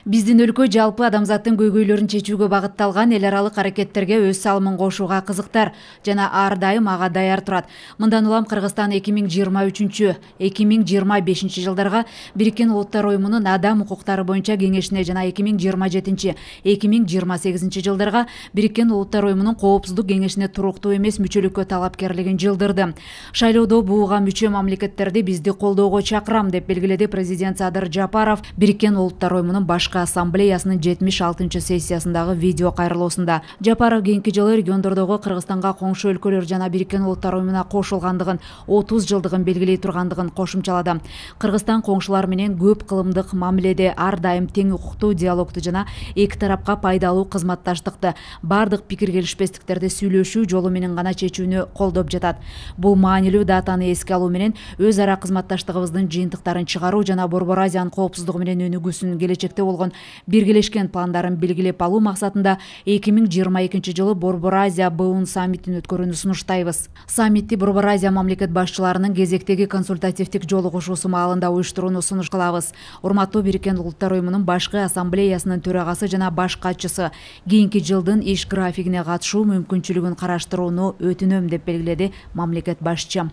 Биздин өлкө жалпы адамзаттын көйгөйлөрүн чечүүгө багытталган эл аралык аракеттерге өз салымын кошууга кызыктар жана ар дайым ага даяр турат. Мындан улам Кыргызстан 2023-2025 жылдарга Бириккен Улуттар Уюмунун адам укуктары боюнча кеңешине жана 2027-2028 жылдарга Бириккен Улуттар Уюмунун коопсуздук кеңешине туруктуу эмес мүчөлүккө талапкерлигин жылдырды. Шайлоодо буга мүчө мамлекеттерди бизди колдоого чакырам деп белгиледи президент Садыр Жапаров Бириккен Улуттар Уюмунун башкы ассамблеясынын 76-сессиясындагы видео кайрылуусунда. Жапаров кийинки жылы региондордогу Кыргызстанга коңшу өлкөлөр жана Бириккен Улуттар Уюмуна кошулгандыгын 30 жылдыгын белгилей тургандыгын кошумчалады. Кыргызстан коңшулар менен көп кылымдык мамиледе ар дайым тең укуктуу диалогту жана эки тарапка пайдалуу кызматташтыкты, бардык пикир келишпестиктерди сүйлөшүү жолу менен гана чечүүнү колдоп жатат. Бул маанилүү датаны эске алуу менен өз ара кызматташтыгыбыздын жыйынтыктарын чыгаруу жана Борбор Азиянын коопсуздугу менен өнүгүүсүнүн келечекте болгон биргелешкен пландарын белгилеп алуу максатында 2022 жылы Борбор Азия БУН саммитин өткөрүүнү сунуштайбыз. Саммитти Борбор Азия мамлекет башчыларынын кезектеги консультативдик жолугушуусу маалында уюштурууну сунуш кылабыз. Урматтуу Бириккен Улуттар Уюмунун башкы ассамблеясынын төрагасы жана баш катчысы кийинки жылдын иш графигине катышуу мүмкүнчүлүгүн караштырууну өтүнөм деп белгиледи мамлекет башчы.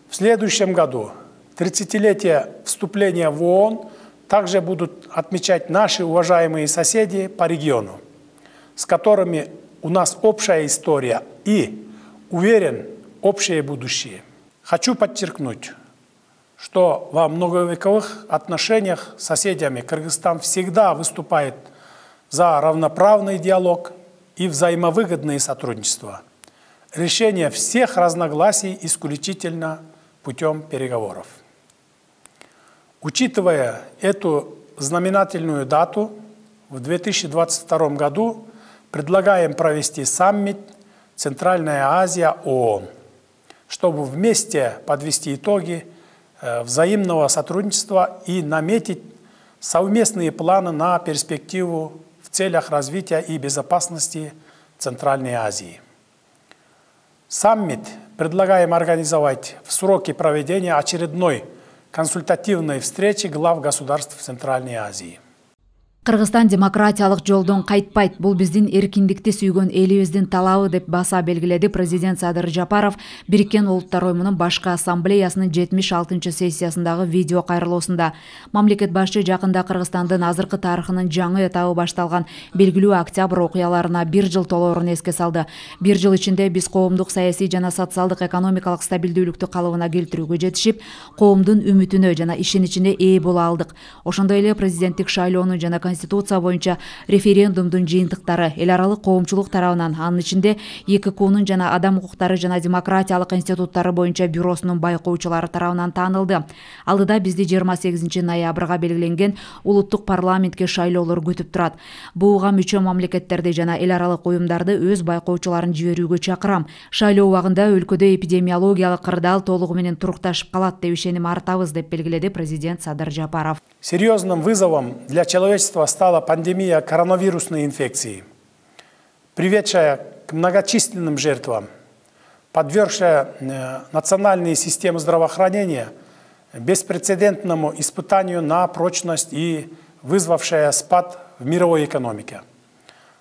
В следующем году 30-летие вступления в ООН также будут отмечать наши уважаемые соседи по региону, с которыми у нас общая история и, уверен, общее будущее. Хочу подчеркнуть, что во многовековых отношениях с соседями Кыргызстан всегда выступает за равноправный диалог и взаимовыгодное сотрудничество. Решение всех разногласий исключительно путем переговоров. Учитывая эту знаменательную дату, в 2022 году предлагаем провести саммит «Центральная Азия ООН», чтобы вместе подвести итоги взаимного сотрудничества и наметить совместные планы на перспективу в целях развития и безопасности Центральной Азии. Саммит предлагаем организовать в сроки проведения очередной консультативной встречи глав государств Центральной Азии. Кыргызстан демократиялык жолдон кайтпайт. Бул биздин эркиндикти сүйгөн элибиздин талабы деп баса белгиледи президент Садыр Жапаров Бириккен Улуттар Уюмунун башкы ассамблеясынын 76-сессиясындагы видео кайрылуусунда. Мамлекет башчы жакында Кыргызстандын азыркы тарыхынын жаңы этабы башталган белгилүү октябрь окуяларына 1 жыл толоорун эске салды. 1 жыл ичинде биз коомдук саясий жана социалдык экономикалык стабилдүүлүктү калыбына келтирүүгө жетишип, коомдун үмүтүнө жана ишеничине ээ боло алдык. Ошондой эле президенттик шайлоонун жана Конституция боюнча референдумдун жыйынтыктары эл аралык коомчулук тарабынан, анын ичинде ЕККУнун жана адам укуктары жана демократиялык институттары боюнча бюросунун байкоочулары тарабынан таанылды. Алдыда бизди 28 ноябрга белгиленген улуттук парламентке шайлоолор күтүп турат. Буга мүчө мамлекеттерди жана эл аралык уюмдарды өз байкоочуларын жиберүүгө чакырам. Шайлоо убагында өлкөдө эпидемиологиялык кырдаал толугу менен турукташып калат деп ишеним артабыз деп белгиледи президент Садыр Жапаров. Серьезным вызовом для человечества стала пандемия коронавирусной инфекции, приведшая к многочисленным жертвам, подвергшая национальные системы здравоохранения беспрецедентному испытанию на прочность и вызвавшая спад в мировой экономике.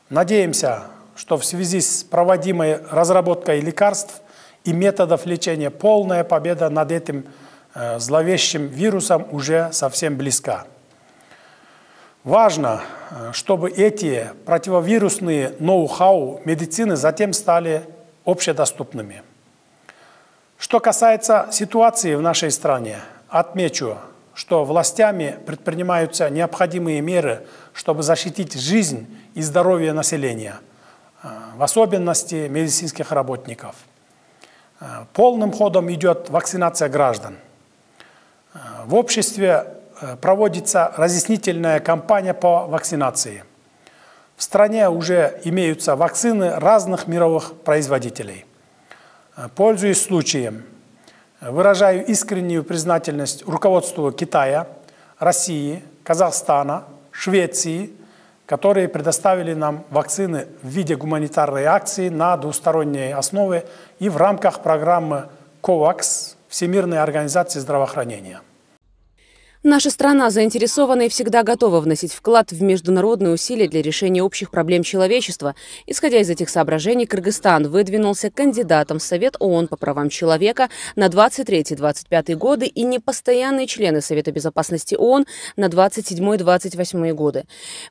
Надеемся, что в связи с проводимой разработкой лекарств и методов лечения полная победа над этим зловещим вирусом уже совсем близка. Важно, чтобы эти противовирусные ноу-хау медицины затем стали общедоступными. Что касается ситуации в нашей стране, отмечу, что властями предпринимаются необходимые меры, чтобы защитить жизнь и здоровье населения, в особенности медицинских работников. Полным ходом идет вакцинация граждан. В обществе проводится разъяснительная кампания по вакцинации. В стране уже имеются вакцины разных мировых производителей. Пользуясь случаем, выражаю искреннюю признательность руководству Китая, России, Казахстана, Швеции, которые предоставили нам вакцины в виде гуманитарной акции на двусторонней основе и в рамках программы COVAX Всемирной организации здравоохранения. Наша страна заинтересована и всегда готова вносить вклад в международные усилия для решения общих проблем человечества. Исходя из этих соображений, Кыргызстан выдвинулся кандидатом в Совет ООН по правам человека на 23-25 годы и непостоянные члены Совета безопасности ООН на 27-28 годы.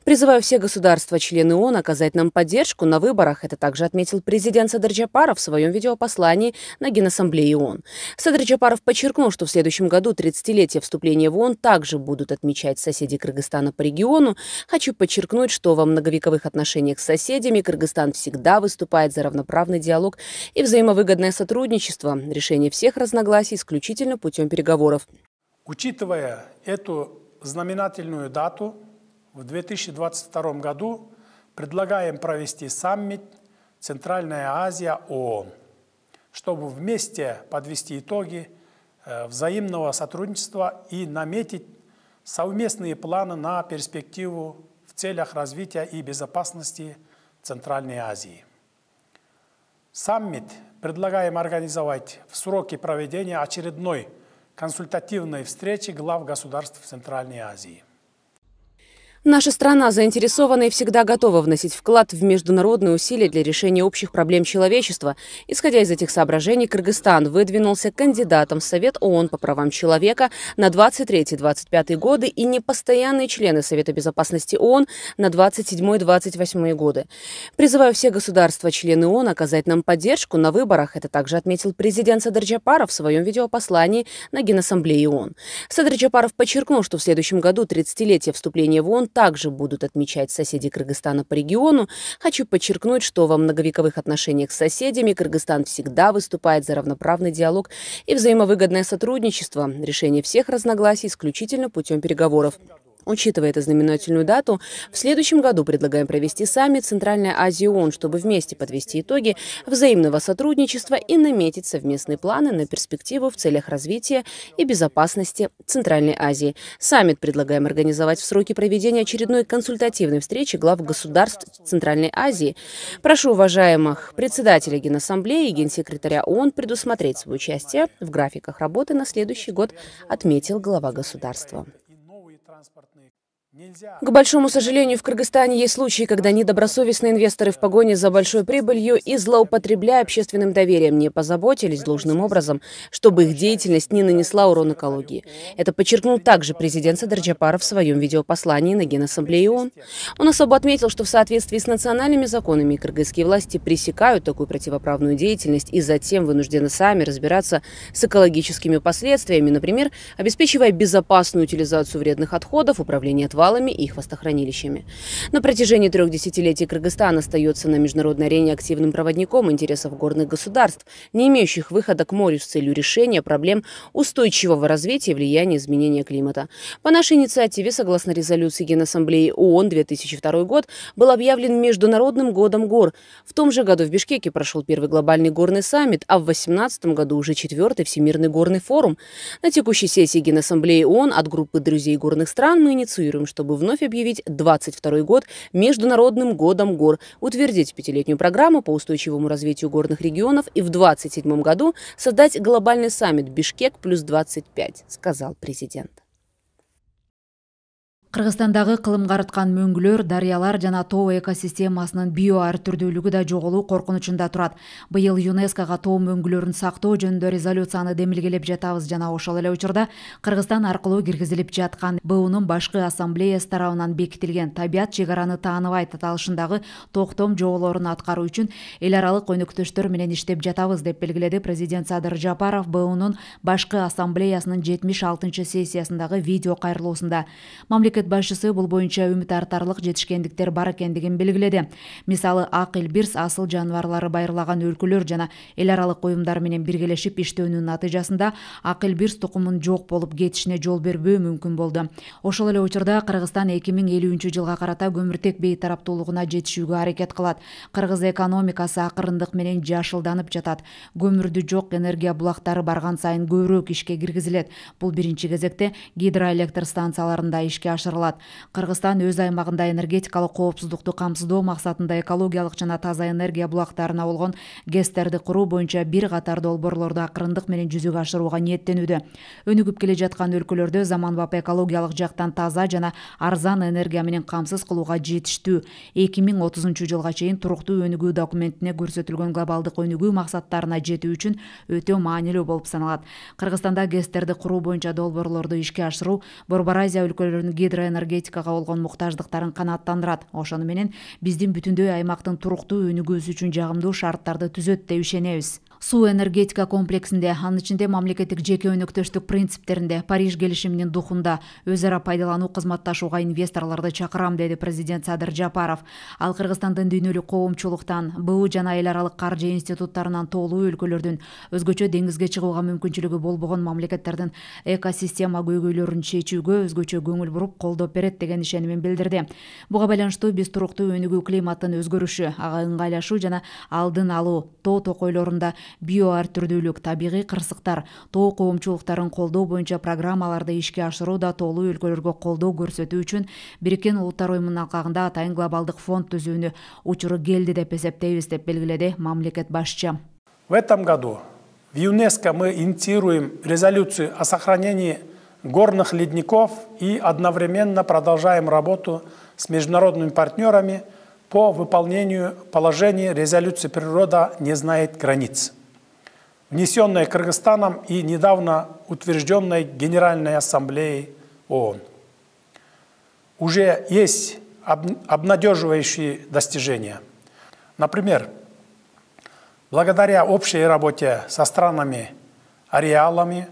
Призываю все государства-члены ООН оказать нам поддержку на выборах. Это также отметил президент Садыр Жапаров в своем видеопослании на Генассамблее ООН. Садыр Жапаров подчеркнул, что в следующем году 30-летие вступления в ООН также будут отмечать соседи Кыргызстана по региону. Хочу подчеркнуть, что во многовековых отношениях с соседями Кыргызстан всегда выступает за равноправный диалог и взаимовыгодное сотрудничество, решение всех разногласий исключительно путем переговоров. Учитывая эту знаменательную дату, в 2022 году предлагаем провести саммит «Центральная Азия ООН», чтобы вместе подвести итоги взаимного сотрудничества и наметить совместные планы на перспективу в целях развития и безопасности Центральной Азии. Саммит предлагаем организовать в сроки проведения очередной консультативной встречи глав государств Центральной Азии. Наша страна заинтересована и всегда готова вносить вклад в международные усилия для решения общих проблем человечества. Исходя из этих соображений, Кыргызстан выдвинулся кандидатом в Совет ООН по правам человека на 23-25 годы и непостоянные члены Совета безопасности ООН на 27-28 годы. Призываю все государства-члены ООН оказать нам поддержку на выборах. Это также отметил президент Садыр Жапаров в своем видеопослании на Генассамблее ООН. Садыр Жапаров подчеркнул, что в следующем году 30-летие вступления в ООН также будут отмечать соседи Кыргызстана по региону. Хочу подчеркнуть, что во многовековых отношениях с соседями Кыргызстан всегда выступает за равноправный диалог и взаимовыгодное сотрудничество, решение всех разногласий исключительно путем переговоров. Учитывая эту знаменательную дату, в следующем году предлагаем провести саммит «Центральная Азия ООН», чтобы вместе подвести итоги взаимного сотрудничества и наметить совместные планы на перспективу в целях развития и безопасности Центральной Азии. Саммит предлагаем организовать в сроки проведения очередной консультативной встречи глав государств Центральной Азии. Прошу уважаемых председателя Генассамблеи и генсекретаря ООН предусмотреть свое участие в графиках работы на следующий год, отметил глава государства. К большому сожалению, в Кыргызстане есть случаи, когда недобросовестные инвесторы в погоне за большой прибылью и злоупотребляя общественным доверием не позаботились должным образом, чтобы их деятельность не нанесла урон экологии. Это подчеркнул также президент Садыр Жапаров в своем видеопослании на Генассамблее ООН. Он особо отметил, что в соответствии с национальными законами кыргызские власти пресекают такую противоправную деятельность и затем вынуждены сами разбираться с экологическими последствиями, например, обеспечивая безопасную утилизацию вредных отходов, управление отвалами и их хвостохранилищами. На протяжении 3 десятилетий Кыргызстан остается на международной арене активным проводником интересов горных государств, не имеющих выхода к морю с целью решения проблем устойчивого развития и влияния изменения климата. По нашей инициативе, согласно резолюции Генассамблеи ООН, 2002 год был объявлен Международным годом гор. В том же году в Бишкеке прошел первый глобальный горный саммит, а в 2018 году уже 4-й Всемирный горный форум. На текущей сессии Генассамблеи ООН от группы друзей горных стран мы инициируем, чтобы вновь объявить 2022 год Международным годом гор, утвердить 5-летнюю программу по устойчивому развитию горных регионов и в 2027 году создать глобальный саммит «Бишкек +25», сказал президент. Кыргызстандагы кылым карыткан мөңгүлөр, дарыялар жана тоо экосистемасынын био ар түрдүүлүгү да жоголуу коркунучунда турат. Быйыл ЮНЕСКОга тоо мөңгүлөрүн сактоо жөнүндө резолюцияны демилгелеп жатабыз жана ошол эле учурда Кыргызстан аркылуу киргизилип жаткан БУнун башкы ассамблеясы тарабынан бекитилген табият чек араны тааныбайт аталышындагы токтом жоболорун аткаруу үчүн эл аралык өнөктөштөр менен иштеп жатабыз деп белгиледи президент Садыр Жапаров БУнун башкы ассамблеясынын 76-сессиясындагы видео кайрылуусунда. Мамлекет башчысы бул боюнча үмүт артарлык жетишкендиктер бар экендигин белгиледи. Мисалы ак Элбирс асыл жаныбарлары байырлаган өлкөлөр жана эл аралык уюмдар менен биргелешип иштөөнүн натыйжасында ак Элбирс тукумун жок болуп кетишине жол бербөө мүмкүн болду. Ошол эле учурда Кыргызстан 2050 жылга карата көмүртек бейтараптуулугуна жетишүүгө аракет кылат. Кыргыз экономикасы акырындык менен жашылданып жатат. Көмүрдү жок энергия булактары барган сайын көбүрөөк ишке киргизилет. Бул биринчи кезекте гидроэлектр станцияларында ишке ашырылат. ашырылат. Кыргызстан өз аймагында энергетикалык коопсуздукту камсыздоо максатында экологиялык жана таза энергия булактарына болгон ГЭСтерди куруу боюнча бир катар долбоорлорду акырындык менен жүзөгө ашырууга ниеттенүүдө. Өнүгүп келе жаткан өлкөлөрдө заманбап экологиялык жактан таза жана арзан энергия менен камсыз кылууга жетиштүү 2030 жылга чейин туруктуу өнүгүү документине көрсөтүлгөн глобалдык өнүгүү максаттарына жетүү үчүн өтө маанилүү болуп саналат. Кыргызстанда ГЭСтерди куруу боюнча долбоорлорду ишке ашыруу Борбор Азия өлкөлөрүнүн гидроэнергетикага болгон муктаждыктарын канааттандырат. Ошону менен биздин бүтүндөй аймактын туруктуу өнүгүүсү үчүн жагымдуу шарттарды түзөт деп ишенебиз. Суу энергетика комплексинде, анын ичинде мамлекеттик жеке өнөктөштүк принциптеринде, Париж келишиминин духунда өз ара пайдалануу кызматташууга инвесторлорду чакырам, деди президент Садыр Жапаров. Ал Кыргызстандын дүйнөлүк коомчулуктан, БУ жана эл аралык каржы институттарынан тоолуу өлкөлөрдүн өзгөчө деңизге чыгууга мүмкүнчүлүгү болбогон мамлекеттердин экосистема көйгөйлөрүн чечүүгө өзгөчө көңүл буруп колдоп берет деген ишенимин билдирди. Буга байланыштуу биз туруктуу өнүгүү климаттын өзгөрүшү, ага ыңгайлашуу жана алдын алуу, тоо токойлорунда био ар түрдүүлүк, табигый кырсыктар, тоо коомчулуктарын колдоо боюнча программаларды ишке ашырууда тоолуу өлкөлөргө колдоо көрсөтүү үчүн Бириккен Улуттар Уюмунун алкагында атайын глобалдык фонд түзүүнү учуру келди деп эсептейбиз, деп белгиледи мамлекет башчы. В этом году в ЮНЕСКО мы инициируем резолюцию о сохранении горных ледников и одновременно продолжаем работу с международными партнерами по выполнению положений резолюции «Природа не знает границ», внесенной Кыргызстаном и недавно утвержденной Генеральной Ассамблеей ООН. Уже есть обнадеживающие достижения. Например, благодаря общей работе со странами-ареалами,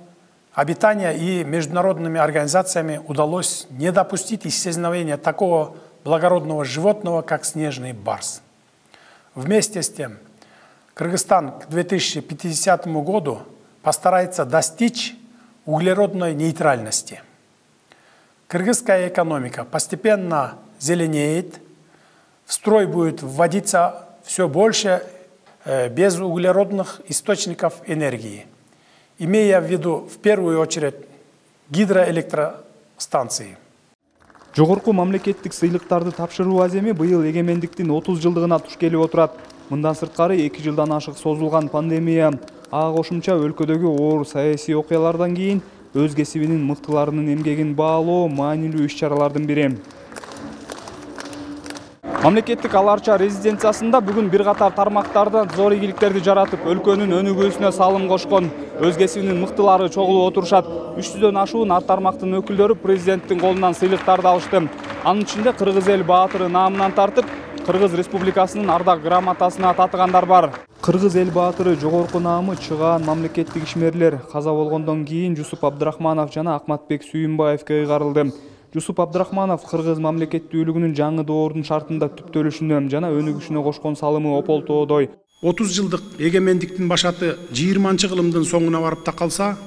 обитания и международными организациями удалось не допустить исчезновения такого благородного животного, как снежный барс. Вместе с тем, Кыргызстан к 2050 году постарается достичь углеродной нейтральности. Кыргызская экономика постепенно зеленеет, в строй будет вводиться все больше безуглеродных источников энергии, имея в виду в первую очередь гидроэлектростанции. Жогорку мамлекеттик сыйлыктарды тапшыруу аземи быйыл эгемендиктин 30 жылдыгына туш келип отурат. Мындан сырткары 2 жылдан ашык созулган пандемия, ага кошумча өлкөдөгү оор саясий окуялардан кийин өз кесибинин мыктыларынын эмгегин баалоо маанилүү иш-чаралардын бири. Мамлекеттик ала арча резиденциясында бүгүн бир катар тармактардан зор ийгиликтерди жаратып, өлкөнүн өнүгүүсүнө салым кошкон өз кесибинин мыктылары чогулуп отурушат. 300дөн ашуун ар тармактын өкүлдөрү президенттин колунан сыйлыктарды алышты. Анын ичинде Кыргыз эл баатыры наамынан тартып, Кыргыз Республикасынын ардак грамотасына татыгандар бар. Кыргыз эл баатыры жогорку наамы чыгаан мамлекеттик ишмерлер каза болгондон кийин Жусуп Абдрахманов жана Акматбек Сүйүнбаевке ыйгарылды. Жусуп Абдрахманов Кыргыз мамлекеттүүлүгүнүн жаңы доордун шартында түптөлүшүнө жана өнүгүшүнө кошкон салымы ополтоодой. 30 жылдык эгемендиктин башаты 20-кылымдын соңуна барып такалса,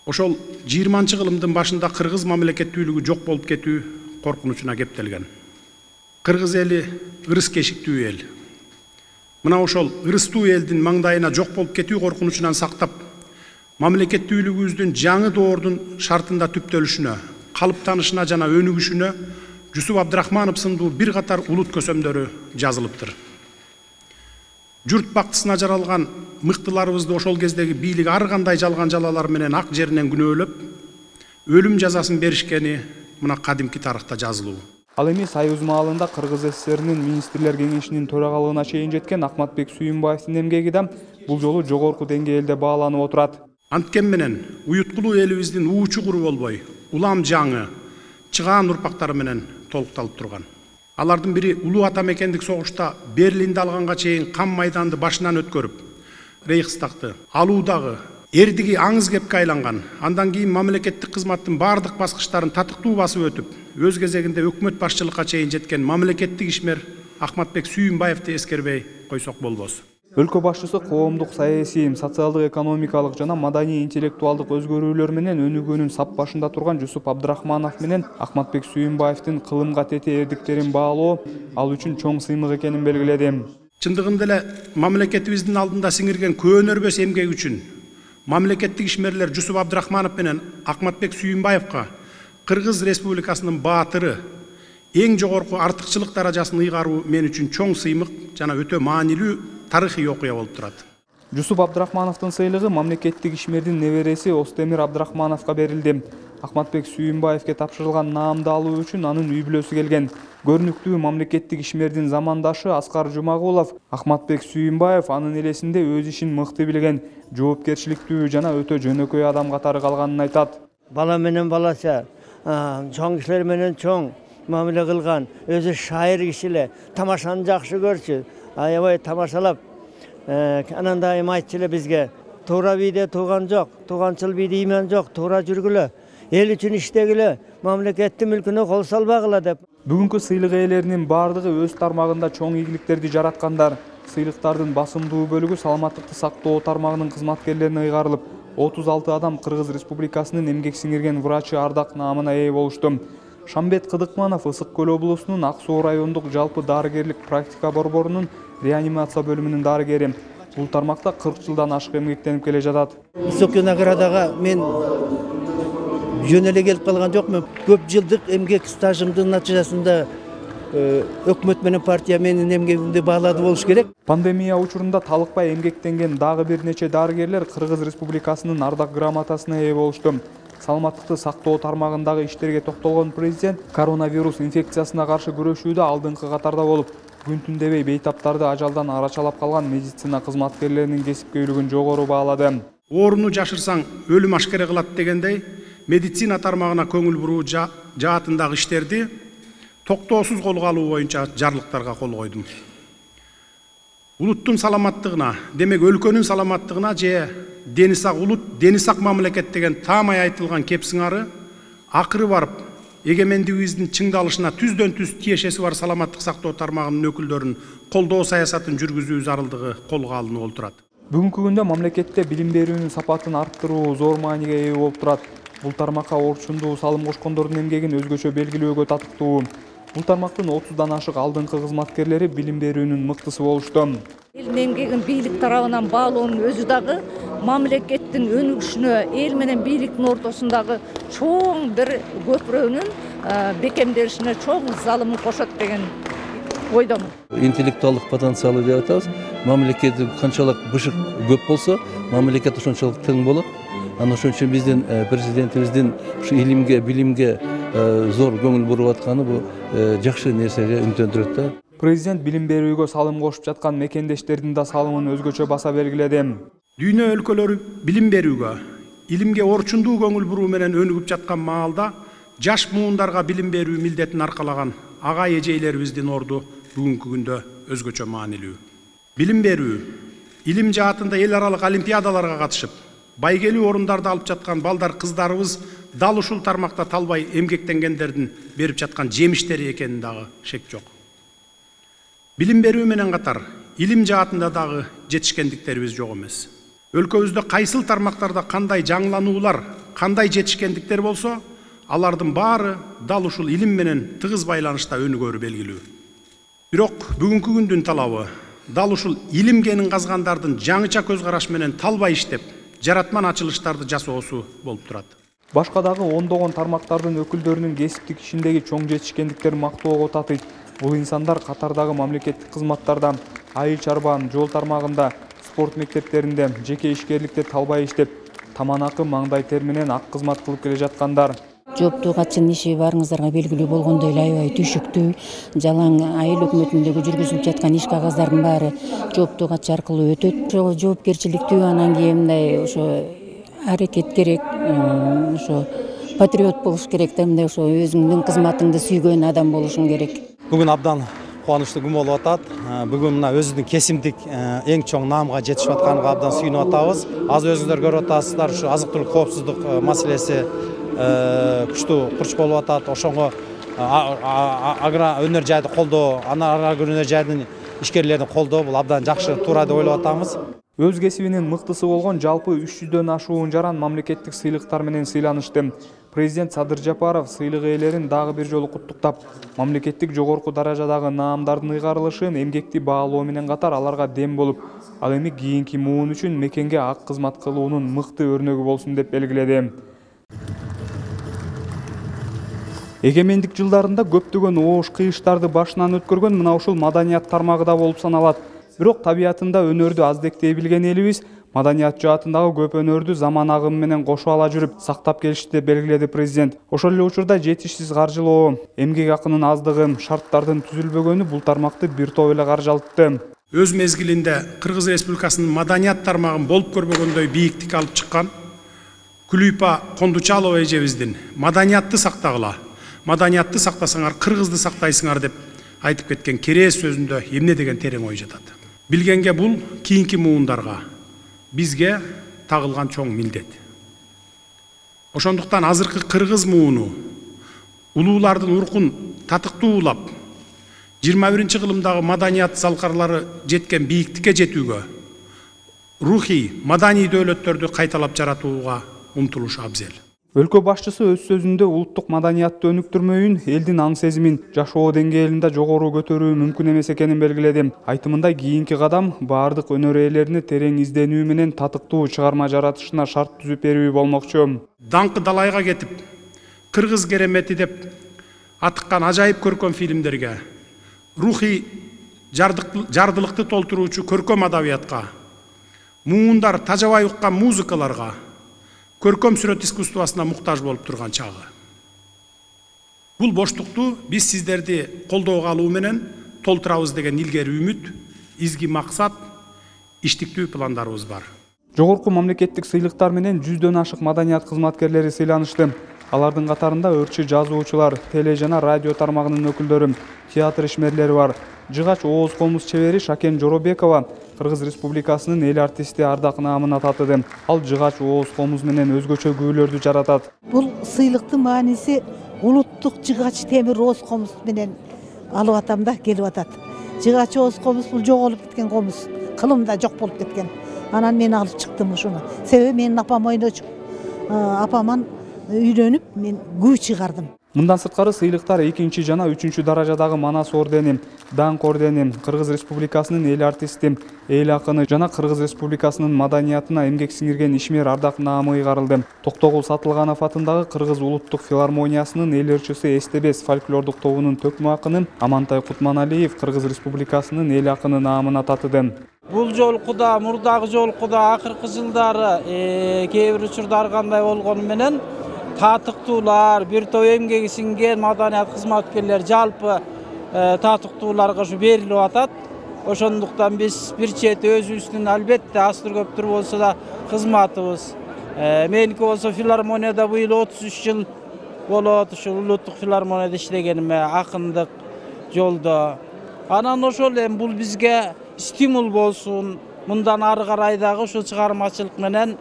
ошол 20-кылымдын башында Кыргыз мамлекеттүүлүгү жок болуп кетүү коркунучуна кептелген. Кыргыз эли ырыс кешиктүү эл. Мына ошол ырыстуу элдин маңдайына жок болуп кетүү коркунучунан сактап, мамлекеттүүлүгүбүздүн жаңы доордун шартында түптөлүшүнө, калыптанышына жана өнүгүшүнө Жусуп Абдрахманов сындуу бир катар улут көсөмдөрү жазылыптыр. Журт бактысына жаралган мыктыларыбызды ошол кездеги бийлик ар кандай жалган жалалар менен ак жеринен күнөөлөп, өлүм жазасын беришкени мына кадимки тарыхта жазылуу. Ал эми Союз маалында Кыргыз СССРнин министрлер кеңешинин төрагалыгына чейин жеткен Акматбек Сүйүнбаевдин эмгеги да бул жолу жогорку деңгээлде бааланып отурат. Анткен менен уюткулуу элибиздин уу чугуру болбой, улам жаңы, чыгаан урпактары менен толукталып турган. Алардын бири улуу ата мекендик согушта Берлинди алганга чейин кам майданды башынан өткөрүп, Рейхстагты алуудагы эрдиги аңыз кепке айланган, андан кийин мамлекеттик кызматтын бардык баскычтарын татыктуу басып өтүп, өз кезегинде өкмөт башчылыкка чейин жеткен мамлекеттик ишмер Акматбек Сүйүнбаевди эскербей койсок болбос. Өлкө башчысы коомдук саясий, социалдык, экономикалык жана маданий интеллектуалдык өзгөрүүлөр менен өнүгүүнүн сап башында турган Жусуп Абдрахманов менен Акматбек Сүйүнбаевдин кылымга тете эрдиктерин баалоо ал үчүн чоң сыймык экенин белгиледи. Чындыгында эле мамлекетибиздин алдында сиңирген көөнөрбөс эмгеги үчүн мамлекеттик ишмерлер Жусуп Абдрахманов менен Акматбек Сүйүнбаевга Кыргыз Республикасынын баатыры, эң жогорку артыкчылык даражасын ыйгаруу мен үчүн чоң сыймык жана өтө маанилүү тарыхый окуя болуп турат. Жусуп Абдрахмановдун сыйлыгы мамлекеттик ишмердин небереси Остемир Абдрахмановго берилди. Ахматбек Сүйүнбаевге тапшырылган наамды алуу үчүн анын үй бүлөсү келген. Көрүнүктүү мамлекеттик ишмердин замандашы Аскар Жумагулов Ахматбек Сүйүнбаев анын элесинде өз ишин мыкты билген, жоопкерчиликтүү жана өтө жөнөкөй адам катары калганын айтат. Бала менен балача, чоң кишилер менен чоң мамиле кылган, өзү шайыр киши эле, тамашаны жакшы көрчү, аябай тамашалап, анан дайым айтчу эле бизге, туура бийде тууган жок, тууганчыл бийде иман жок, туура жүргүлө, эл үчүн иштегиле, мамлекеттин мүлкүнө кол салбагыла деп. Бүгүнкү сыйлык ээлеринин бардыгы өз тармагында чоң ийгиликтерди жараткандар. Сыйлыктардын басымдуу бөлүгү саламаттыкты сактоо тармагынын кызматкерлерине ыйгарылып, 36 адам Кыргыз Республикасынын эмгек сиңирген врачы Ардак наамына ээ болушту. Шамбет Кыдыкманов Ысык Көл облусунун Ак Суу райондук жалпы дарыгерлик практика борборунун реанимация бөлүмүнүн дарыгери. Бул тармакта 40 жылдан ашык эмгектенип келе жатат. Высокий наградага мен жөн эле келип калган жокмун. Көп жылдык эмгек стажымдын натыйжасында өкмөт менен партия менин эмгегимди баалады болуш керек. Пандемия учурунда талыкпай эмгектенген дагы бир нече дарыгерлер Кыргыз Республикасынын ардак грамотасына ээ болушту. Саламаттыкты сактоо тармагындагы иштерге токтолгон президент коронавирус инфекциясына каршы күрөшүүдө алдыңкы катарда болуп, күн түн дебей бейтаптарды ажалдан арачалап калган медицина кызматкерлеринин кесипкөйлүгүн жогору баалады. Ооруну жашырсаң өлүм ашкере кылат дегендей, медицина тармагына көңүл буруу жаатындагы иштерди токтоосуз колго алуу боюнча жарлыктарга кол койдум. Улуттун саламаттыгына, демек өлкөнүн саламаттыгына же дени сак улут, дени сак мамлекет деген таамай айтылган кеп сыңары акыры барып, эгемендигибиздин чыңдалышына түздөн түз тиешеси бар саламаттык сактоо тармагынын өкүлдөрүн колдоо саясатын жүргүзүү зарылдыгы колго алынып отурат. Бүгүнкү күндө мамлекетте билим берүүнүн сапатын арттыруу зор мааниге ээ болуп турат. Бул тармакка орчундуу салым кошкондордун эмгегин өзгөчө белгилөөгө татыктуу. Бул тармактын 30дан ашык алдыңкы кызматкерлери билим берүүнүн мыктысы болушту. Элдин эмгегин бийлик тарабынан баалоонун өзү дагы мамлекеттин өнүгүшүнө, эл менен бийликтин ортосундагы чоң бир көпүрөнүн бекемделишине чоң залымын кошот деген ойдомун. Интеллектуалдык потенциалы деп атабыз. Мамлекет канчалык бышык көп болсо, мамлекет ошончолук тең болот. Аны ошон үчүн биздин президентибиздин ушу илимге, билимге зор көңүл буруп атканы бул жакшы нерсеге үмүттөндүрөт да. Президент билим берүүгө салым кошуп жаткан мекендештердин да салымын өзгөчө баса белгиледи. Дүйнө өлкөлөрү билим берүүгө, илимге орчундуу көңүл буруу менен өнүгүп жаткан маалда жаш муундарга билим берүү милдетин аркалаган агай эжейлерибиздин орду бүгүнкү күндө өзгөчө маанилүү. Билим берүү, илим жаатында эл аралык олимпиадаларга катышып, байгелүү орундарды алып жаткан балдар кыздарыбыз дал ушул тармакта талбай эмгектенгендердин берип жаткан жемиштери экенин дагы шек жок. Билим берүү менен катар илим жаатында дагы жетишкендиктерибиз жок эмес. Өлкөбүздө кайсыл тармактарда кандай жаңылануулар, кандай жетишкендиктер болсо, алардын баары дал ушул илим менен тыгыз байланышта өнүгөрү белгилүү. Бирок бүгүнкү күндүн талабы дал ушул илим кенин казгандардын жаңыча көз караш менен талбай иштеп, жаратман ачылыштарды жасоосу болуп турат. Башка дагы ондогон тармактардын өкүлдөрүнүн кесиптик ишиндеги чоң жетишкендиктерин мактоого татыйт. Бул инсандар катардагы мамлекеттик кызматтарда, айыл чарбан, жол тармагында, спорт мектептеринде, жеке ишкерликте талбай иштеп, таманакы маңдай тер менен ак кызмат кылып келе жаткандар. Жооптуу катчынын иши баарыңыздарга белгилүү болгондой эле аябай түшүктүү. Жалаң айыл өкмөтүндөгү жүргүзүлүп жаткан иш кагаздардын баары жооптуу катчы аркылуу өтөт. Ошо жоопкерчиликтүү, анан кийин мындай ошо аракет керек, ошо патриот болуш керек да, мындай ошо өзүңдүн кызматыңды сүйгөн адам болушуң керек. Бүгүн абдан кубанычтуу күн болуп атат. Бүгүн мына өзүбүздүн кесимдик эң чоң наамга жетишип атканга абдан сүйүнүп атабыз. Азыр өзүңүздөр көрүп атасыздар, ушу азык түлүк коопсуздук маселеси күчтүү курч болуп атат. Ошонго агроөнөр жайды колдоо, агроөнөр жайдын ишкерлерин колдоо бул абдан жакшы, туура деп ойлоп атабыз. Өз кесибинин мыктысы болгон жалпы 300дөн ашуун жаран мамлекеттик сыйлыктар менен сыйланышты. Президент Садыр Жапаров сыйлык ээлерин дагы бир жолу куттуктап, мамлекеттик жогорку даражадагы наамдардын ыйгарылышын эмгекти баалоо менен катар аларга дем болуп, ал эми кийинки муун үчүн мекенге ак кызмат кылуунун мыкты өрнөгү болсун деп белгиледи. Эгемендик жылдарында көптөгөн оош кыйыштарды башынан өткөргөн мына ушул маданият тармагы да болуп саналат. Бирок табиятында өнөрдү аздектей билген элибиз маданият жаатындагы көп өнөрдү заман агымы менен кошуп ала жүрүп сактап келишти деп белгиледи президент. Ошол эле учурда жетишсиз каржылоо, эмгек акынын аздыгы, шарттардын түзүлбөгөнү бул тармакты бир топ эле каржалтты. Өз мезгилинде Кыргыз Республикасынын маданият тармагын болуп көрбөгөндөй бийиктик алып чыккан Күлүйпа Кондучалова эжебиздин маданиятты сактагыла, маданиятты сактасаңар кыргызды сактайсыңар деп айтып кеткен керээс сөзүндө эмне деген терең ой жатат. Билгенге бул кийинки муундарга бизге тагылган чоң милдет. Ошондуктан азыркы кыргыз мууну улуулардын уркун татыктуулап 21-кылымдагы маданият залкарлары жеткен бийиктикке жетүүгө, рухий, маданий дөөлөттөрдү кайталап жаратууга умтулуш абзел. Өлкө башчысы өз сөзүндө улуттук маданиятты өнүктүрмөйүн элдин аң сезимин жашоо деңгээлинде жогору көтөрүү мүмкүн эмес экенин белгиледи. Айтымында кийинки кадам баардык өнөр ээлерине терең изденүү менен татыктуу чыгарма жаратышына шарт түзүп берүү болмокчу. Даңкы далайга кетип, кыргыз керемети деп атыккан ажайып көркөм фильмдерге, рухий жардылыкты толтуруучу көркөм адабиятка, муундар тажабай уккан музыкаларга, көркөм сүрөт искусствосуна муктаж болуп турган чагы. Бул боштукту биз сиздерди колдоого алуу менен толтурабыз деген илгери үмүт, изги максат, иштиктүү пландарыбыз бар. Жогорку мамлекеттик сыйлыктар менен 100дөн ашык маданият кызматкерлери сыйланышты. Алардын катарында өрчү жазуучулар, теле жана радио тармагынын өкүлдөрү, театр ишмерлери бар. Жыгач ооз комуз чебери Шакен Жоробекова Кыргыз Республикасынын эл артисти ардак наамына татыды. Ал жыгач ооз комуз менен өзгөчө күйлөрдү жаратат. Бул сыйлыктын мааниси улуттук жыгач темир ооз комуз менен алып атам да келип атат. Жыгач ооз комуз бул жоголуп кеткен комуз, кылымда жок болуп кеткен. Анан мен алып чыктым ушуну. Себеби менин апам ойночу. Апаман үйрөнүп мен күй чыгардым. Мындан сырткары сыйлыктар 2 жана 3 даражадагы Манас ордени, Даңк ордени, Кыргыз Республикасынын эл артисти, эл акыны жана Кыргыз Республикасынын маданиятына эмгек сиңирген ишмер ардак наамы ыйгарылды. Токтогул Сатылганов атындагы Кыргыз улуттук филармониясынын эл ырчысы Эстебес фольклордук тобунун төкмө акыны Амантай Кутманалиев Кыргыз Республикасынын эл акыны наамына татыды. Бул жолку да, мурдагы жолку да акыркы жылдары кээ бир учурда кандай болгону менен татыктуулар, бир топ эмгеги сиңген маданият кызматкерлер жалпы татыктууларга ушу берилип атат. Ошондуктан биз бир чети өзүбүздүн албетте азтыр көптүр болсо да кызматыбыз. Меники болсо филармонияда быйыл 33 жыл болот, ушул улуттук филармонияда иштегениме, акындык жолдо. Анан ошол эми бул бизге стимул болсун. Мындан ары карай дагы ушул чыгармачылык менен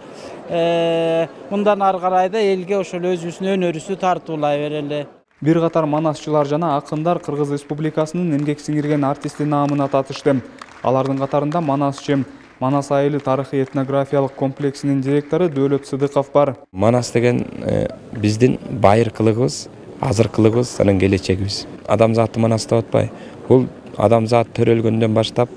мындан ары карай да элге ошол өзүбүздүн өнөрүбүздү тартуулай берели. Бир катар манасчылар жана акындар Кыргыз Республикасынын эмгек сиңирген артисти наамына татышты. Алардын катарында Манасчы, Манас айылы тарыхый этнографиялык комплексинин директору Дөөлөт Сыдыков бар. Манас деген биздин байыркылыгыбыз, азыркылыгыбыз, анын келечегибиз. Адамзатты Манас деп атпай, бул адамзат төрөлгөндөн баштап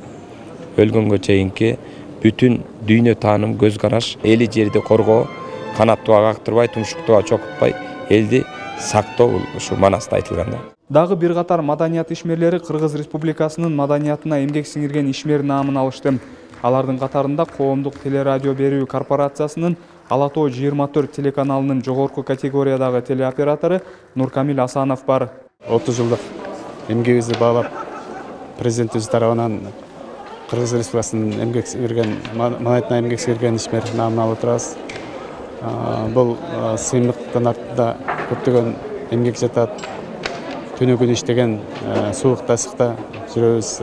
өлгөнгө чейинки бүтүн дүйнө тааным, көз караш, эли жерди коргоо, канаттууга кактырбай, тумшуктууга чокутпай, элди сактоо ушу Манаста айтылган да. Дагы бир катар маданият ишмерлери Кыргыз Республикасынын маданиятына эмгек сиңирген ишмер наамын алышты. Алардын катарында Коомдук телерадио берүү корпорациясынын Ала Тоо 24 телеканалынын жогорку категориядагы телеоператору Нуркамил Асанов бар. 30 жылдык эмгегибизди баалап, президентибиз тарабынан Кыргыз Республикасынын эмгек сиңирген, маданиятына эмгек сиңирген ишмер наамын алып отурабыз. Бул сыймыктын артында көптөгөн эмгек жатат. Түнү күнү иштеген, суукта, ысыкта жүрөбүз.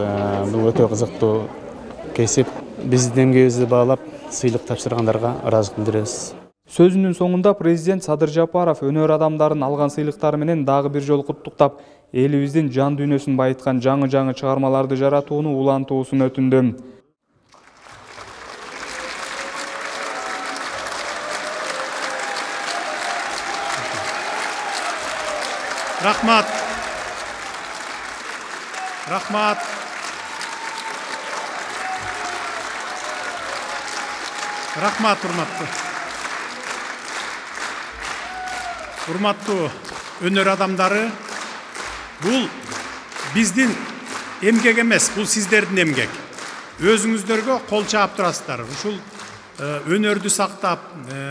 Бул өтө кызыктуу кесип. Биздин эмгегибизди баалап, сыйлык тапшыргандарга ыраазычылык билдиребиз. Сөзүнүн соңунда президент Садыр Жапаров өнөр адамдарын алган сыйлыктары менен дагы бир жолу куттуктап, элибиздин жан дүйнөсүн байыткан жаңы чыгармаларды жаратууну улантуусун өтүндү. Рахмат. Рахмат. Рахмат, урматтуу өнөр адамдары, бул биздин эмгек эмес, бул сиздердин эмгек. Өзүңүздөргө кол чаап турасыздар. Ушул өнөрдү сактап,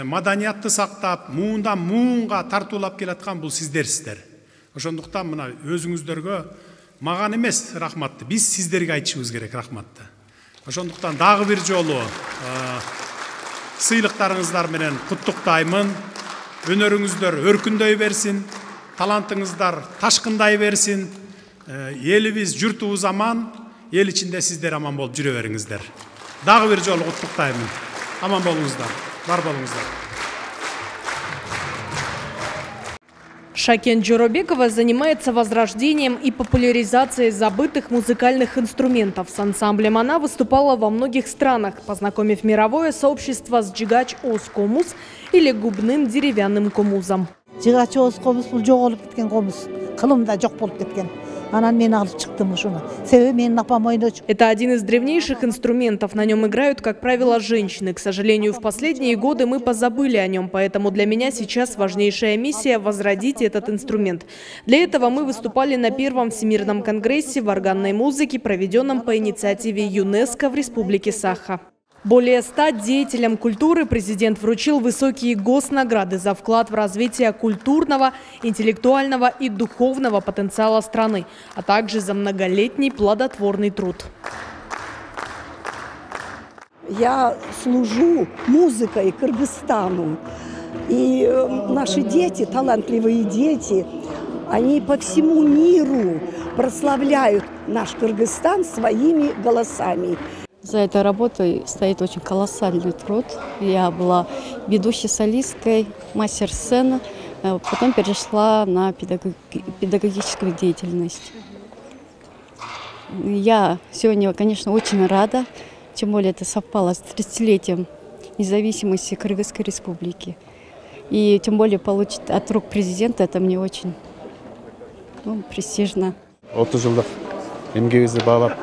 маданиятты сактап, муундан муунга тартуулап келаткан бул сиздерсиздер. Ошондуктан мына өзүңүздөргө маган эмес рахматты, биз сиздерге айтышыбыз керек рахматты. Ошондуктан дагы бир жолу сыйлыктарыңыздар менен куттуктаймын. Өнөрүңүздөр өркүндөй берсин, талантыңыздар ташкындай берсин. Элибиз, журтубуз аман, эл ичинде сиздер аман болуп жүрө бериңиздер. Дагы бир жолу куттуктаймын. Аман болуңуздар, бар болуңуздар. Шакен Джоробекова занимается возрождением и популяризацией забытых музыкальных инструментов. С ансамблем она выступала во многих странах, познакомив мировое сообщество с джигач оз комуз или губным деревянным комузом. Жыгач оз комуз бул жоголуп кеткен комуз, кылымда жок болуп кеткен. Анан мен алып чыктым ушуну. Себеби менин апам ойночу. Это один из древнейших инструментов. На нем играют, как правило, женщины. К сожалению, в последние годы мы позабыли о нем, поэтому для меня сейчас важнейшая миссия – возродить этот инструмент. Для этого мы выступали на первом Всемирном конгрессе в органной музыке, проведенном по инициативе ЮНЕСКО в Республике Саха. Более 100 деятелям культуры президент вручил высокие госнаграды за вклад в развитие культурного, интеллектуального и духовного потенциала страны, а также за многолетний плодотворный труд. Я служу музыкой Кыргызстану, и наши дети, талантливые дети, они по всему миру прославляют наш Кыргызстан своими голосами. За этой работой стоит очень колоссальный труд. Я была ведущей солисткой, мастер сцены, потом перешла на педагогическую деятельность. Я сегодня, конечно, очень рада, тем более это совпало с 30-летием независимости Кыргызской республики. И тем более получить от рук президента, это мне очень престижно. 30 жылдык эмгегибизди баалап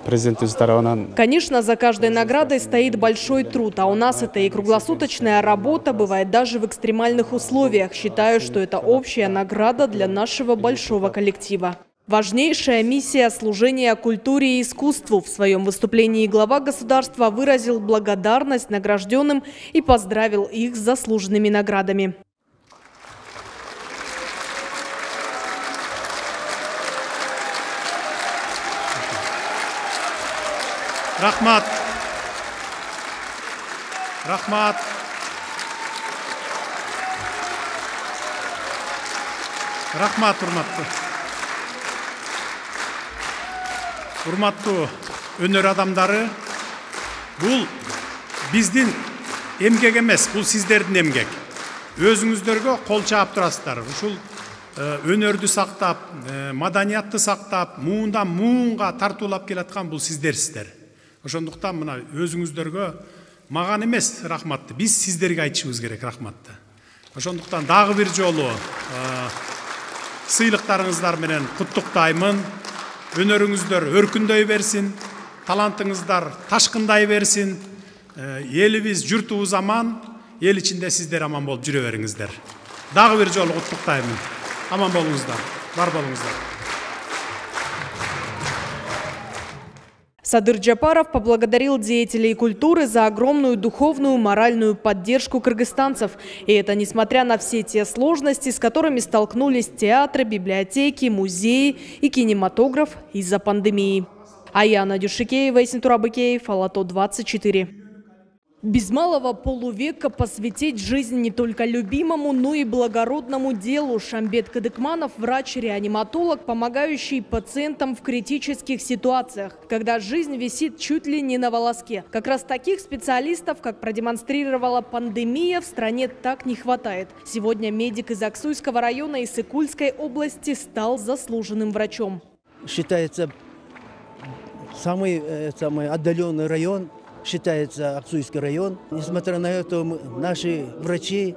президентибиз тарабынан. Конечно, за каждой наградой стоит большой труд, а у нас это и круглосуточная работа, бывает даже в экстремальных условиях. Считаю, что это общая награда для нашего большого коллектива. Важнейшая миссия служения культуре и искусству. В своем выступлении глава государства выразил благодарность награжденным и поздравил их с заслуженными наградами. Рахмат. Рахмат. Рахмат, урматтуу өнөр адамдары. Бул биздин эмгек эмес, бул сиздердин эмгек. Өзүңүздөргө кол чаап турасыздар. Ушул өнөрдү сактап, маданиятты сактап, муундан муунга тартуулап келаткан бул сиздерсиздер. Ошондуктан мына өзүңүздөргө маган эмес рахматты, биз сиздерге айтышыбыз керек рахматты. Ошондуктан дагы бир жолу сыйлыктарыңыздар менен куттуктаймын. Өнөрүңүздөр өркүндөй берсин, талантыңыздар ташкындай берсин. Элибиз, журтубуз аман, эл ичинде сиздер аман болуп жүрө бериңиздер. Дагы бир жолу куттуктаймын. Аман болуңуздар, бар болуңуздар. Садыр Джапаров поблагодарил деятелей культуры за огромную духовную, моральную поддержку кыргызстанцев. И это несмотря на все те сложности, с которыми столкнулись театры, библиотеки, музеи и кинематограф из-за пандемии. Аяна Дюшикеева и Сентура Быкеев, Алато 24. Без малого полувека посвятить жизнь не только любимому, но и благородному делу. Шамбет Кадыкманов – врач-реаниматолог, помогающий пациентам в критических ситуациях, когда жизнь висит чуть ли не на волоске. Как раз таких специалистов, как продемонстрировала пандемия, в стране так не хватает. Сегодня медик из Аксуйского района и Сыкульской области стал заслуженным врачом. Считается самый отдаленный район. Считается Аксуйский район. Несмотря на это, наши врачи,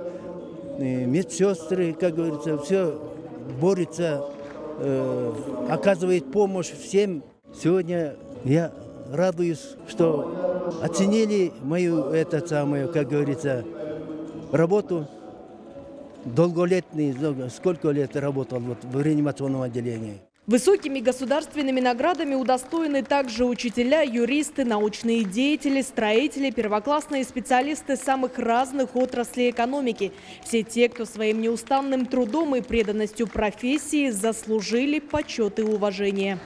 медсестры, как говорится, все борются, оказывает помощь всем. Сегодня я радуюсь, что оценили мою, как говорится, работу. долголетний, сколько лет работал вот в реанимационном отделении. Высокими государственными наградами удостоены также учителя, юристы, научные деятели, строители, первоклассные специалисты самых разных отраслей экономики. Все те, кто своим неустанным трудом и преданностью профессии заслужили почет и уважение.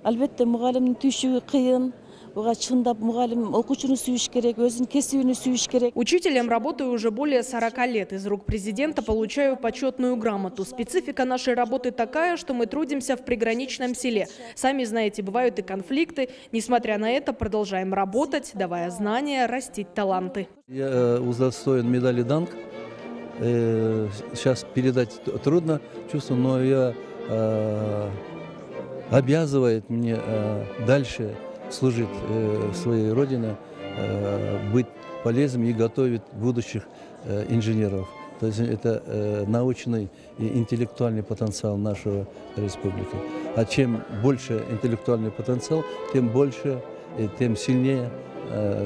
Албетте, мугалимдин түйшүгү кыйын. Учителем работаю уже более 40 лет. Из рук президента получаю почетную грамоту. Специфика нашей работы такая, что мы трудимся в приграничном селе. Сами знаете, бывают и конфликты. Несмотря на это, продолжаем работать, давая знания, растить таланты. Я удостоен медали «Данг». Сейчас передать трудно чувство, но я обязывает мне дальше служить своей родине, быть полезным и готовить будущих инженеров. То есть это научный и интеллектуальный потенциал нашей республики. А чем больше интеллектуальный потенциал, тем больше и тем сильнее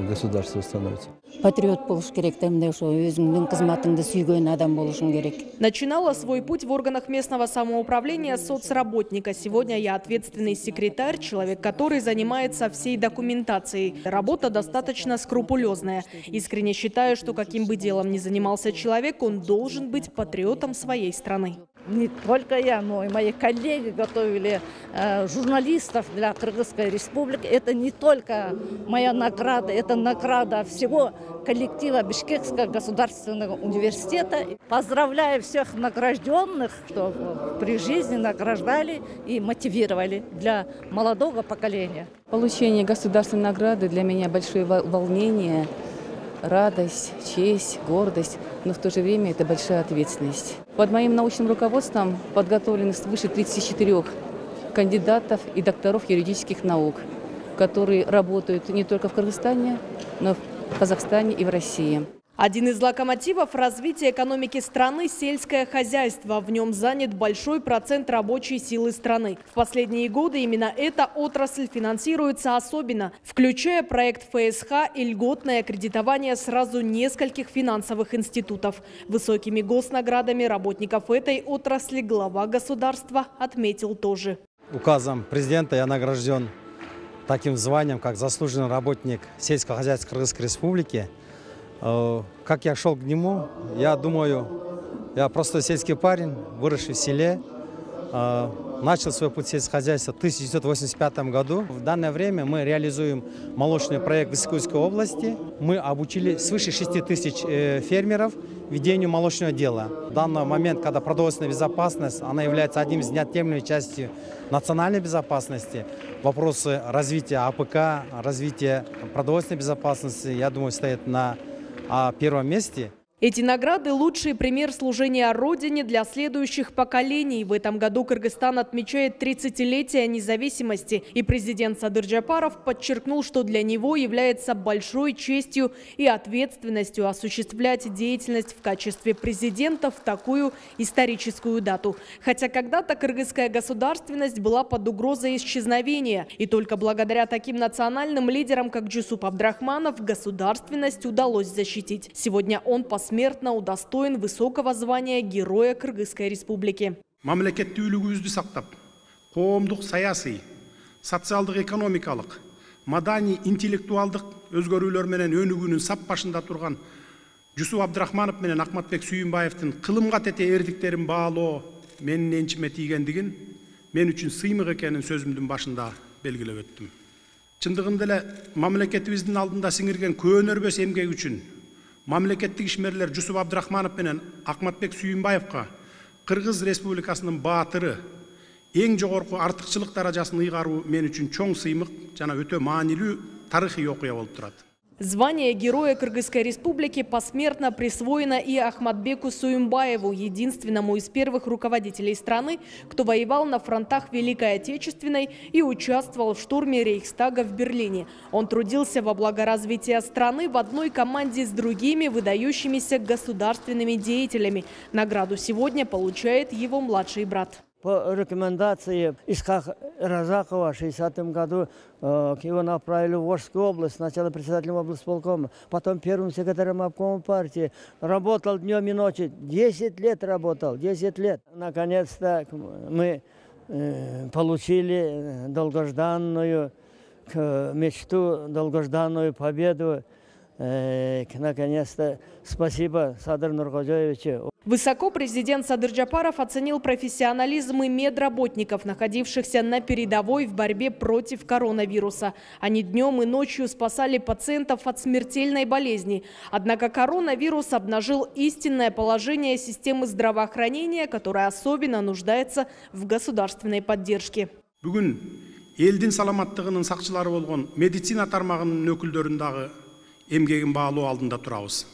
государство становится. Патриот болуш керек, демде ошо өзүңдүн кызматыңды сүйгөн адам болушуң керек. Начинала свой путь в органах местного самоуправления соцработника. Сегодня я ответственный секретарь, человек, который занимается всей документацией. Работа достаточно скрупулезная. Искренне считаю, что каким бы делом ни занимался человек, он должен быть патриотом своей страны. Не только я, но и мои коллеги готовили журналистов для Кыргызской республики. Это не только моя награда, это награда всего коллектива Бишкекского государственного университета. Поздравляю всех награжденных, что при жизни награждали и мотивировали для молодого поколения. Получение государственной награды для меня большое волнение, радость, честь, гордость, но в то же время это большая ответственность. Под моим научным руководством подготовлены свыше 34 кандидатов и докторов юридических наук, которые работают не только в Кыргызстане, но в Казахстане и в России. Один из локомотивов развития экономики страны – сельское хозяйство. В нем занят большой процент рабочей силы страны. В последние годы именно эта отрасль финансируется особенно, включая проект ФСХ и льготное кредитование сразу нескольких финансовых институтов. Высокими госнаградами работников этой отрасли глава государства отметил тоже. Указом президента я награжден таким званием, как заслуженный работник сельского хозяйства Кыргызской республики. Как я шел к нему, я думаю, я простой сельский парень, выросший в селе, начал свой путь сельскохозяйства в 1985 году. В данное время мы реализуем молочный проект в Исыкульской области. Мы обучили свыше 6 тысяч фермеров ведению молочного дела. В данный момент, когда продовольственная безопасность, она является одним из неотъемлемой частью национальной безопасности, вопросы развития АПК, развития продовольственной безопасности, я думаю, стоят на первом месте. Эти награды – лучший пример служения Родине для следующих поколений. В этом году Кыргызстан отмечает 30-летие независимости. И президент Садыр Джапаров подчеркнул, что для него является большой честью и ответственностью осуществлять деятельность в качестве президента в такую историческую дату. Хотя когда-то кыргызская государственность была под угрозой исчезновения. И только благодаря таким национальным лидерам, как Жусуп Абдрахманов, государственность удалось защитить. Сегодня он посмертно удостоен высокого звания Героя Кыргызской республики. Мамлекеттүүлүгүбүздү сактап, коомдук саясий, социалдык экономикалык, маданий интеллектуалдык өзгөрүүлөр менен өнүгүүнүн сап башында турган Жусуп Абдрахманов менен Акматбек Сүйүнбаевдин кылымга тете эрдиктерин баалоо менин энчиме тийгендигин, мен үчүн сыймык экенин сөзүмдүн башында белгилеп өттүм. Чындыгында эле мамлекетибиздин алдында сиңирген көөнөрбөс эмгек үчүн мамлекеттик ишмерлер Жусуп Абдрахманов менен Акматбек Сүйүнбаевка Кыргыз Республикасынын баатыры эң жогорку артыкчылык даражасын ыйгаруу мен үчүн чоң сыймык жана өтө маанилүү тарыхый окуя болуп турат. Звание Героя Кыргызской республики посмертно присвоено и Ахматбеку Суюмбаеву, единственному из первых руководителей страны, кто воевал на фронтах Великой Отечественной и участвовал в штурме Рейхстага в Берлине. Он трудился во благо развития страны в одной команде с другими выдающимися государственными деятелями. Награду сегодня получает его младший брат. По рекомендации Исхака Разакова в 60-м году его направили в Волжскую область, сначала председателем облсполкома, потом первым секретарем обкома партии. Работал днем и ночью, 10 лет работал, 10 лет. Наконец-то мы получили долгожданную мечту, долгожданную победу. Наконец-то спасибо Садыр Нуркожоевичу. Высоко президент Садыр Джапаров оценил профессионализм и медработников, находившихся на передовой в борьбе против коронавируса. Они днем и ночью спасали пациентов от смертельной болезни. Однако коронавирус обнажил истинное положение системы здравоохранения, которая особенно нуждается в государственной поддержке. Бүгін елдің саламаттығының сақчылары болған медицина тармағының өкілдеріндегі эмгегин баалоо алдында турабыз.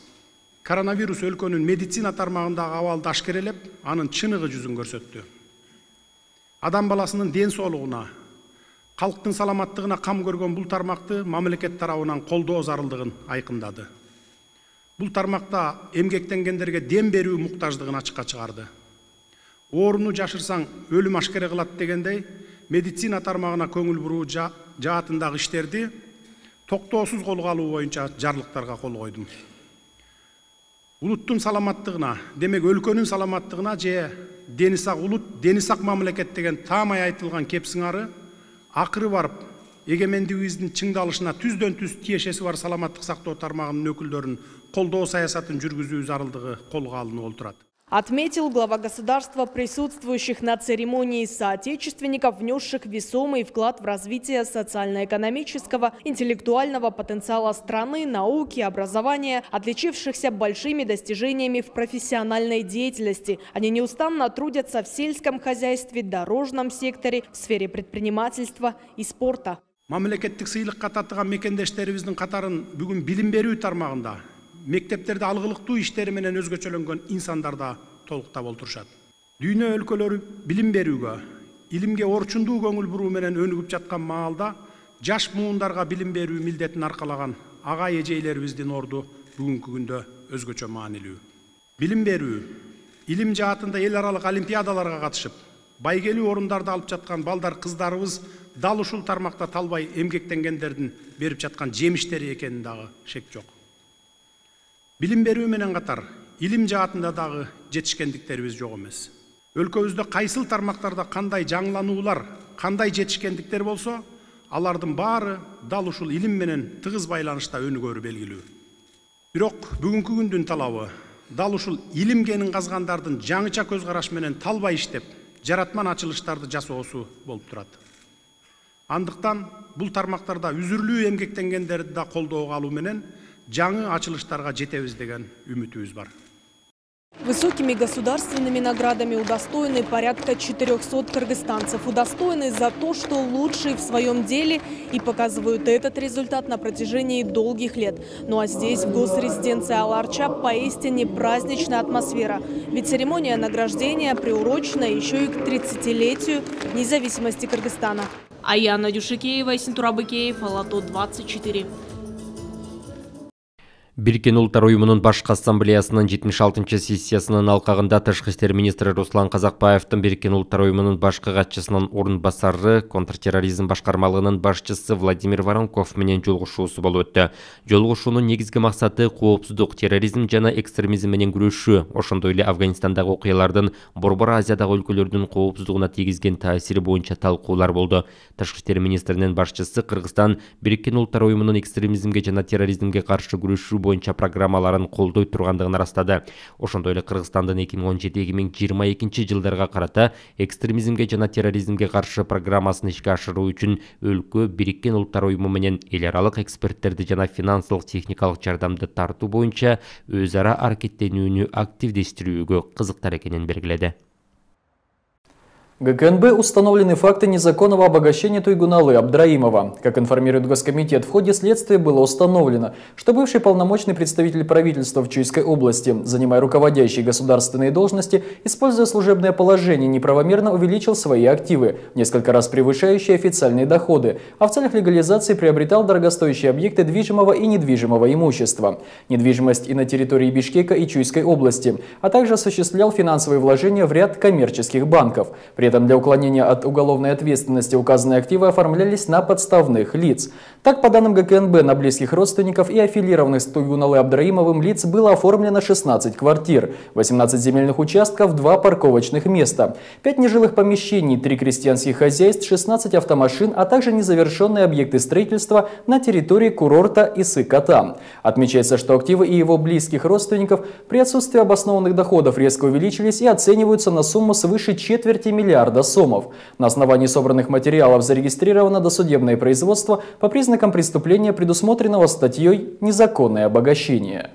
Коронавирус өлкөнүн медицина тармагындагы абалды ашкерелеп, анын чыныгы жүзүн көрсөттү. Адам баласынын ден соолугуна, калктын саламаттыгына кам көргөн бул тармакты мамлекет тарабынан колдоо зарылдыгын айкындады. Бул тармакта эмгектенгендерге дем берүү муктаждыгын ачыкка чыгарды. Ооруну жашырсаң өлүм ашкере кылат дегендей, медицина тармагына көңүл буруу жаатындагы иштерди токтоосуз колго алуу боюнча жарлыктарга кол койдум. Улуттун саламаттыгына, демек өлкөнүн саламаттыгына же дени сак улут, дени сак мамлекет деген таамай айтылган кепсиңары акыры барып, эгемендигибиздин чыңдалышына түздөн түз тиешеси бар саламаттык сактоо тармагынын өкүлдөрүн колдоо саясатын жүргүзүү зарылдыгы колго алынып отурат. Отметил глава государства присутствующих на церемонии соотечественников, внесших весомый вклад в развитие социально-экономического, интеллектуального потенциала страны, науки, образования, отличившихся большими достижениями в профессиональной деятельности. Они неустанно трудятся в сельском хозяйстве, дорожном секторе, в сфере предпринимательства и спорта. Мамлекеттик сыйлыкка татыган мекендештерибиздин катарын бүгүн билим берүү тармагында мектептерде алгылыктуу иштери менен өзгөчөлөнгөн инсандар да толуктап олтурушат. Дүйнө өлкөлөрү билим берүүгө, илимге орчундуу көңүл буруу менен өнүгүп жаткан маалда жаш муундарга билим берүү милдетин аркалаган ага эжейлерибиздин орду бүгүнкү күндө өзгөчө маанилүү. Билим берүү, илим жаатында эл аралык олимпиадаларга катышып, байгелүү орундарды алып жаткан балдар кыздарыбыз дал ушул тармакта талбай эмгектенгендердин берип жаткан жемиштери экенин дагы шек жок. Билим берүү менен катар илим жаатында дагы жетишкендиктерибиз жок эмес. Өлкөбүздө кайсыл тармактарда кандай жаңылануулар, кандай жетишкендиктер болсо, алардын баары дал ушул илим менен тыгыз байланышта өнүгөрү белгилүү. Бирок бүгүнкү күндүн талабы дал ушул илим кенин казгандардын жаңыча көз караш менен талбай иштеп, жаратман ачылыштарды жасоосу болуп турат. Андыктан бул тармактарда үзүрлүү эмгектенгендерди да колдоого алуу менен жаңы ачылыштарга жетебиз деген үмүтүбүз бар. Высокими государственными наградами удостоены порядка 400 кыргызстанцев. Удостоены за то, что лучшие в своем деле и показывают этот результат на протяжении долгих лет. Ну а здесь, в госрезиденции Ала-Арча, поистине праздничная атмосфера. Ведь церемония награждения приурочена еще и к 30-летию независимости Кыргызстана. Аяна Дюшикеева, Синтура Быкеев, Ала-То 24. Бириккен Улуттар уюмунун башкы ассамблеясынын 76-чы сессиясынын алкагында Тышкы иштер министри Руслан Казакбаевдин Бириккен Улуттар уюмунун башкы катчысынын орун басары, контртерроризм башкармалыгынын башчысы Владимир Воронков менен жолугушуусу болуп өттү. Жолугушуунун негизги максаты коопсуздук, терроризм жана экстремизм менен күрөшүү, ошондой эле Афганистандагы окуялардын Борбор Азиядагы өлкөлөрдүн коопсуздугуна тийгизген таасири боюнча талкуулар болду. Тышкы иштер министринин башчысы Кыргызстан Бириккен Улуттар уюмунун экстремизмге жана терроризмге каршы күрөшүү боюнча программаларын колдой тургандыгын ырастады. Ошондой эле Кыргызстандын 2017-2022 жылдарга карата экстремизмге жана терроризмге каршы программасын ишке ашыруу үчүн өлкө Бириккен Улуттар уюму менен эл аралык эксперттерди жана финансылык техникалык жардамды тартуу боюнча өз ара аракеттенүүнү активдештирүүгө кызыктар экенин белгиледи. ГКНБ установлены факты незаконного обогащения Туйгуналы Абдраимова. Как информирует Госкомитет, в ходе следствия было установлено, что бывший полномочный представитель правительства в Чуйской области, занимая руководящие государственные должности, используя служебное положение, неправомерно увеличил свои активы, несколько раз превышающие официальные доходы, а в целях легализации приобретал дорогостоящие объекты движимого и недвижимого имущества, недвижимость и на территории Бишкека и Чуйской области, а также осуществлял финансовые вложения в ряд коммерческих банков. При При этом для уклонения от уголовной ответственности указанные активы оформлялись на подставных лиц. Так, по данным ГКНБ, на близких родственников и аффилированных с Туйгуналы Абдраимовым лиц было оформлено 16 квартир, 18 земельных участков, 2 парковочных места, 5 нежилых помещений, 3 крестьянских хозяйств, 16 автомашин, а также незавершенные объекты строительства на территории курорта Исы-Кота. Отмечается, что активы и его близких родственников при отсутствии обоснованных доходов резко увеличились и оцениваются на сумму свыше четверти миллиарда сомов. На основании собранных материалов зарегистрировано досудебное производство по признакам преступления, предусмотренного статьей «Незаконное обогащение».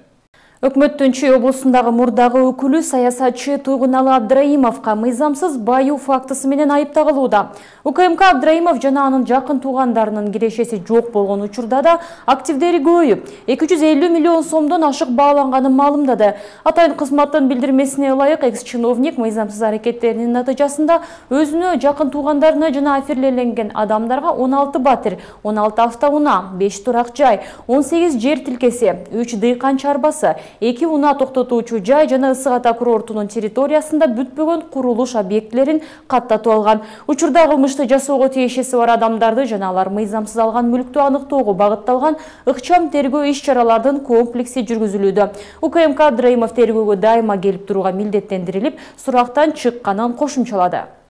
Өкмөттүн Чүй облусундагы мурдагы өкүлү саясатчы Туйгуналы Абдраимовго мыйзамсыз баюу фактысы менен айыпталууда. УКМК Абдраимов жана анын жакын туугандарынын кирешеси жок болгон учурда да активдери көбөйүп, 250 миллион сомдон ашык бааланганын маалымдады. Атайын кызматтын билдирмесине ылайык экс-чиновник мыйзамсыз аракеттеринин натыйжасында өзүнө жакын туугандарына жана аффилирленген адамдарга 16 батир, 16 автоунаа, 5 турак жай, 18 жер тилкеси, 3 дыйкан чарбасы, 2 унаа токтотуучу жай жана Ысык-Ата курортунун территориясында бүтпөгөн курулуш объектилерин каттатып алган. Учурда кылмышты жасоого тиешеси бар адамдарды жана алар мыйзамсыз алган мүлктү аныктоого багытталган ыкчам тергөө иш-чаралардын комплекси жүргүзүлүүдө. УКМК Абдраимов тергөөгө дайыма келип турууга милдеттендирилип, сурактан чыкканын кошумчалады.